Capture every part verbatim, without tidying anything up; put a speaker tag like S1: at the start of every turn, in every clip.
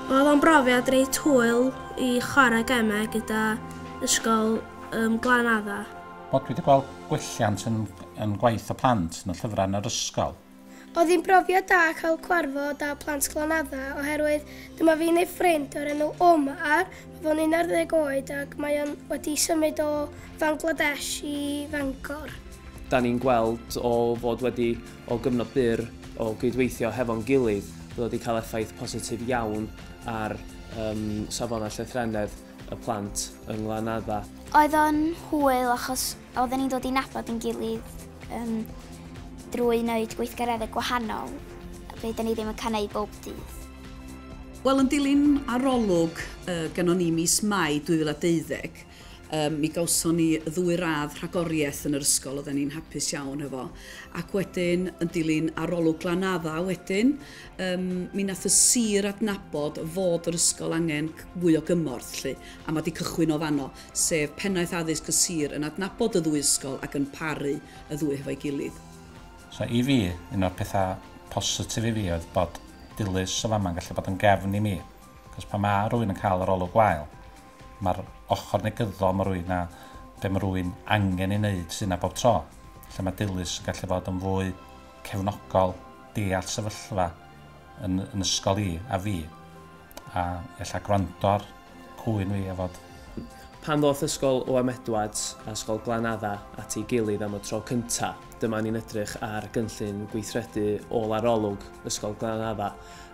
S1: Oedd o'n brofiad reit hwyl i chwarae gemau gyda ysgol um, Glanadda.
S2: Wel, dwi wedi gweld gwelliant yn, yn gwaith y plant yn y llyfrau yn yr ysgol.
S3: Oedd hi'n brofiad da cael cwarfod â plant Glanadda oherwydd dyma fi'n ei ffrind o'r enw Omar, mae fo'n un ar ddeg oed ac mae o'n wedi symud o Fangladesh i Fangor.
S4: Da ni'n gweld o fod wedi o gyfnod byr o gydweithio hefo'n gilydd bod wedi cael effaith positif iawn ar um, safonau llythrennedd y plant yng Nglanadda.
S5: Oedd o'n hwyl achos oedden ni'n dod i nabod yn gilydd um, drwy wneud gweithgareddau gwahanol, be da ni ddim yn cael neud bob dydd.
S6: Wel, yn dilyn arolwg uh, gynnon ni mis Mai dwy fil a deuddeg, um, mi gawson ni ddwy radd rhagoriaeth yn yr ysgol, oedden ni'n hapus iawn efo. Ac wedyn, yn dilyn arolwg Glanadda wedyn, um, mi nath y sir adnabod fod yr ysgol angen fwy o gymorth, lly, a mae wedi cychwyn o fanno, sef pennaeth addysg y sir yn adnabod y ddwy ysgol ac yn paru y ddwy hefo'i gilydd.
S2: So i fi, un o'r pethau positif i fi oedd bod Dilys o fama'n gallu bod yn gefn i mi. Cos pan mae rhywun yn cael yr olwg gwael, mae'r ochr negyddol mae rhywun a be mae rhywun angen ei wneud sy'n yna bob tro. Lle mae Dilys yn gallu bod yn fwy cefnogol, deall sefyllfa yn, yn ysgol i a fi. A ella gwrando ar cwyn fi a fod.
S4: Pan ddoth ysgol O M Edwards a ysgol Glanadda at ei gilydd am y tro cynta, dyma ni'n edrych ar gynllun gweithredu ôl arolwg ysgol Glanadda.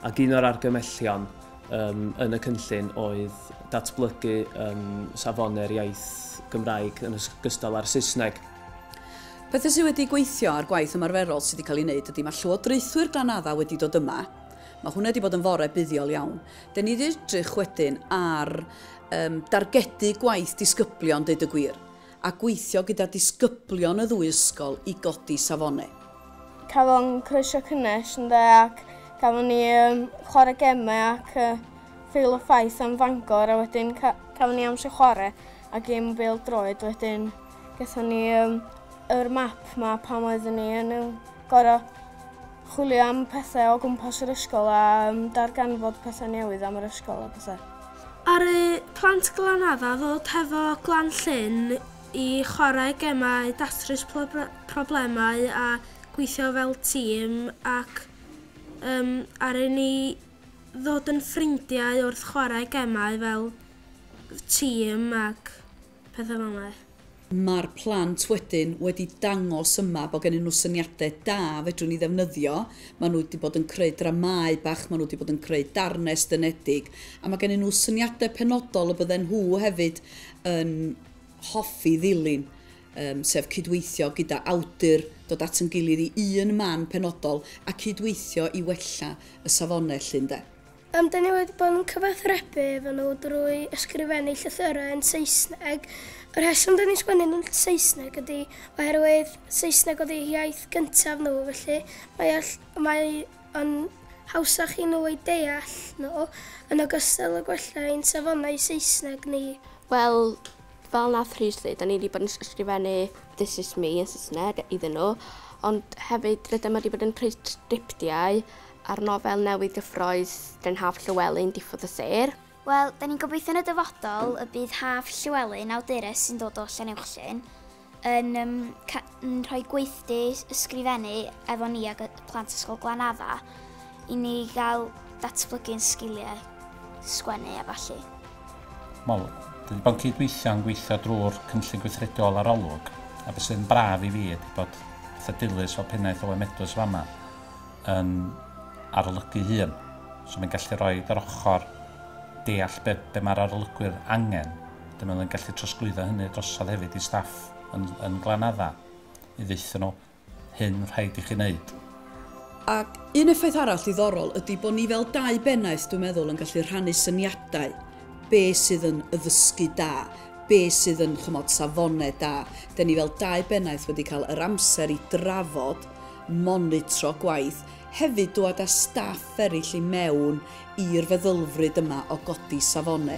S4: Ac un o'r argymellion um, yn y cynllun oedd datblygu um, safonau'r iaith Gymraeg yn ogystal â'r Saesneg.
S6: Pethau sydd wedi gweithio ar gwaith ymarferol sydd wedi cael ei wneud ydy mae llywodraethwyr Glanadda wedi dod yma. Mae hwnna wedi bod yn fore buddiol iawn. Den ni wedi edrych wedyn ar um, dargedu gwaith disgyblion, deud y gwir, a gweithio gyda disgyblion y ddwy ysgol i godi safonau.
S7: Cafon croeso cynnes ynde, ac gafon ni um, chwarae gemau ac uh, ffeil o ffaith am Fangor, a wedyn ca cafon ni amser chwarae a gêm bêl droed. Wedyn gathon ni um, yr map ma pan oeddwn ni yn gorau chwilio am pethau o gwmpas yr ysgol a um, darganfod pethau newydd am yr ysgol a pethau.
S1: Ar y plant Glanadda ddod hefo Glan Llyn i chwarae gemau, datrys problemau a gweithio fel tîm ac um, ar i ni ddod yn ffrindiau wrth chwarae gemau fel tîm ac pethau fel yna.
S6: Mae'r plant wedyn wedi dangos yma bod gennyn nhw syniadau da fedrwn ni ddefnyddio. Maen nhw wedi bod yn creu dramau bach, maen nhw wedi bod yn creu darnau estynedig, a mae gennyn nhw syniadau penodol y bydden nhw hefyd yn hoffi ddilyn, um, sef cydweithio gyda awdur, dod at yn gilydd i un man penodol a cydweithio i wella y safonau lly, ynde.
S3: Um, da ni wedi bod yn cyfathrebu efo nhw drwy ysgrifennu llythyrau yn Saesneg. Y rheswm da ni'n sgwennu yn Saesneg ydy oherwydd Saesneg oedd eu iaith gyntaf nhw, felly mae, mae yn hawsach i nhw ei deall nhw yn ogystal â gwella ein safonau Saesneg ni.
S8: Wel, fel nath Rhys dweud, da ni wedi bod yn ysgrifennu This is me yn Saesneg iddyn nhw, ond hefyd rydym wedi bod yn creu sgriptiau a'r nofel newydd gyffrous gan Haf Llewelyn, Diffodd y Sêr.
S5: Wel, da ni'n gobeithio yn y dyfodol y bydd Haf Llewelyn, awdures sy'n dod o Llanuwchllyn, yn, um, yn rhoi gweithdy ysgrifennu efo ni ag y plant ysgol Glanadda i ni gael datblygu'n sgiliau sgwennu a ballu.
S2: Wel, dwi wedi bod yn cydweithio yn gweithio drwy'r cynllun gweithredol arolwg, a beth sy'n braf i fi ydy bod fatha Dilys fel pennaeth O M Edwards fama yn arolygu hun. So mae'n gallu rhoi yr ochr deall be, be mae'r arolygwyr angen. Dyma nhw'n gallu trosglwyddo hynny drosodd hefyd i staff yn, yn Glanadda i ddeutha nhw hyn rhaid i chi wneud.
S6: Ac un effaith arall ddiddorol ydy bod ni fel dau bennaeth, dwi'n meddwl, yn gallu rhannu syniadau be sydd yn addysgu da, be sydd yn chymod safonau da. Den ni fel dau bennaeth wedi cael yr amser i drafod, monitro gwaith, hefyd dod â staff eraill i mewn i'r feddylfryd yma o godi safonau.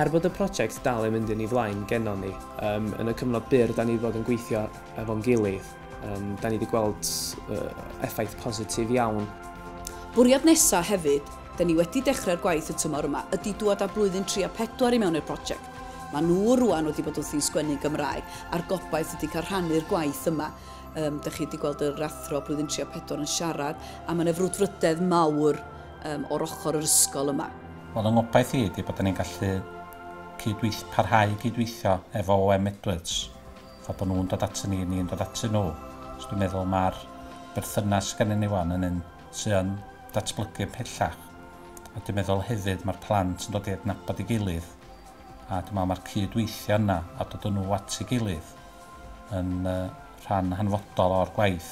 S4: Er bod y prosiect dal yn mynd yn ei flaen gennon ni, um, yn y cyfnod byr da ni wedi bod yn gweithio efo'n gilydd, um, da ni wedi gweld uh, effaith positif iawn.
S6: Bwriad nesaf hefyd Da ni wedi dechrau'r gwaith y tymor yma ydy dŵad â blwyddyn tri a pedwar i mewn i'r prosiect. Mae nhw rwan wedi bod wrthi'n sgwennu Gymraeg a'r gobaith ydy cael rhannu'r gwaith yma. Um, da chi wedi gweld yr athro blwyddyn tri a pedwar yn siarad a mae yna frwdfrydedd mawr um, o'r ochr yr ysgol yma.
S2: Wel, yng ngobaith i ydy bod ni'n gallu cydweith, parhau cydweithio efo O M Edwards. Fa bod nhw'n dod atyn ni, ni'n dod atyn nhw. So dwi'n meddwl mae'r berthynas gennyn ni wan yn un sy'n yn datblygu pellach. A dwi'n meddwl hefyd mae'r plant yn dod i adnabod ei gilydd. A dwi'n meddwl mae'r cydweithio yna a dod â nhw at ei gilydd yn uh, rhan hanfodol o'r gwaith.